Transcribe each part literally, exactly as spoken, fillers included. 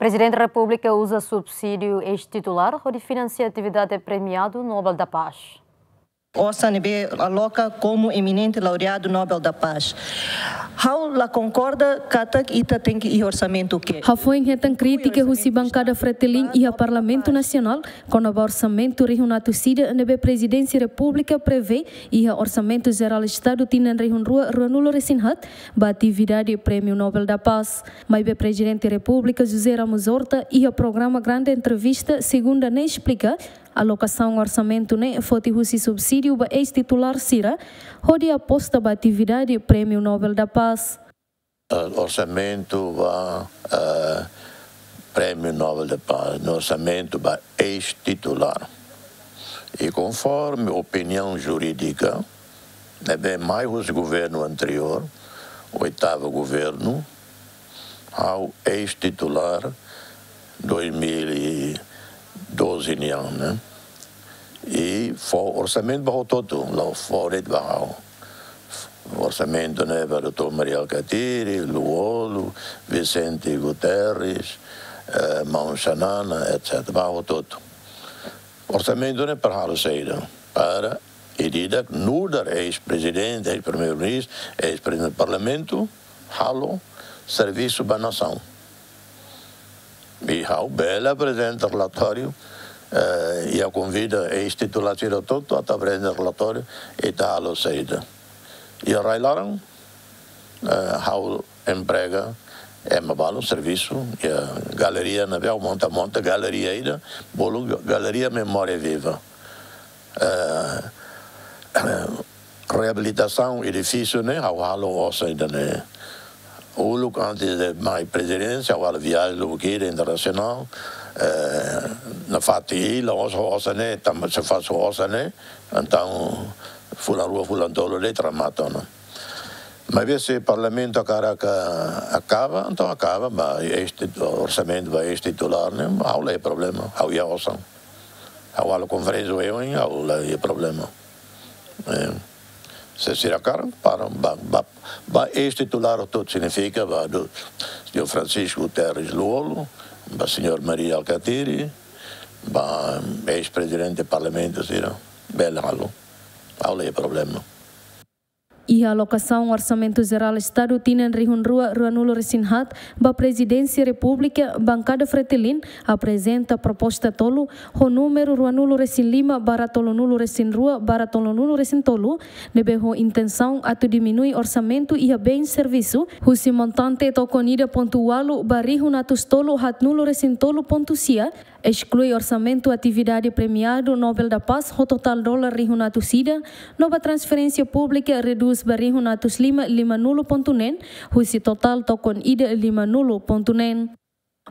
Prezidente Repúblika uza subsídiu eis-titulár hodi finansia atividade premiadu Nobel da Paz. Osan ne'ebé aloka komu eminente laureadu Nobel da Paz. Ha'u la konkorda katak ita tenke iha orsamentu ke. Hafoin hetan krítika husi bankada Fretilin iha Parlamentu Nasionál, kona-ba orsamentu rihun atus ida ne'ebé Prezidénsia Repúblika prevee iha Orsamentu Jerál Estadu tinan rihun rua ruanulu-resin-haat ba atividade Prémiu Nobel da Paz. Maibé Prezidente Repúblika José Ramos Horta iha programa Grande Entrevista segunda ne'e esplika, alokasaun orsamentu ne'e foti husi subsídiu ba eis-titulár sira, hodi aposta ba atividade Prémiu Nobel da Paz. Eh, orsamentu ba, eh, Prémiu Nobel da Paz, no orsamentu ba eis-titulár. I konforme opiniaun jurídika, ne'ebé mai husi governu anteriór, oitavu governu, ha'u eis-titulár dois mil e doze nian, ne'e? I fó orsamentu ba hotu-hotu, la fó de'it ba ha'u. Orsamentu ne'e ba doutór Mari Alkatiri, Lú-Olo, Vicente Guterres, eh, maun Xanana, et cetera. Ba hotu-hotu. Orsamentu ne'e para halo saida? Para ida-idak nu'udar eis-prezidente, eis-primeiru-ministru, eis-prezidente parlamentu, halo servisu ba nasaun. I ha'u bele aprezenta relatóriu, eh, i ha'u konvida eis-titulár sira hotu-hotu atu aprezenta relatóriu, ita halo saida. Iha rai-laran, eh, ha'u emprega ema balu servisu, iha galeria ne'ebé ha'u monta, monta galeria ida, bolu ga-, galeria Memória Viva. Eh, reabilitasaun edifísiu ne'e, ha'u halo osan ida-ne'e. Uluk antes de mai prezidénsia, ha'u halo viajen lubuk ida internasionál, eh, nafatin hela, osan, osan ne'e, tanba se fó osan ne'e, entaun fulan rua, fulan tolu de'it remata ona. Maibé se parlamentu hakarak akaba, entaun akaba, ba eis-tit-, orsamentu ba eis-titulár ne'e, ha'u la iha problema, ha'u iha osan. Ha'u halo konferénsia oioin, ha'u la iha problema. Eh, se sira hakarak, para, ba, ba, ba eis-titulár hotu-hotu signifika, ba dou-, señór Francisco Guterres Lú-Olo, ba señór Mari Alkatiri, ba eis-prezidente parlamentu sira, bele halo. Ha'u la iha problema. Iha alokasaun Orsamentu Jerál Estadu tinan rihun rua ruanulu-resin-haat ba Prezidénsia Repúblika, bankada Fretilin aprezenta proposta tolu, ho númeru ruanulu-resin-lima barra tolunulu-resin-rua barra tolunulu-resin-tolu, ne'ebé ho intensaun atu diminui orsamentu iha bein servisu, husi montante tokon ida pontu ualu ba rihun atus tolu haatnulu-resin-tolu pontu sia, esklui orsamentu atividade premiadu Nobel da Paz ho totál dolar rihun atus ida, no ba transferénsia públika redús ba rihun atus lima limanulu pontu neen, husi totál tokon ida limanulu pontu neen.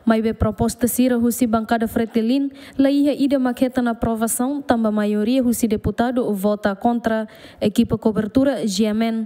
Maibé proposta sira husi bankada Fretilin, la iha ida mak hetan aprovasaun, tanba maioria husi deputadu vota kontra, ekipa kobertura G M N.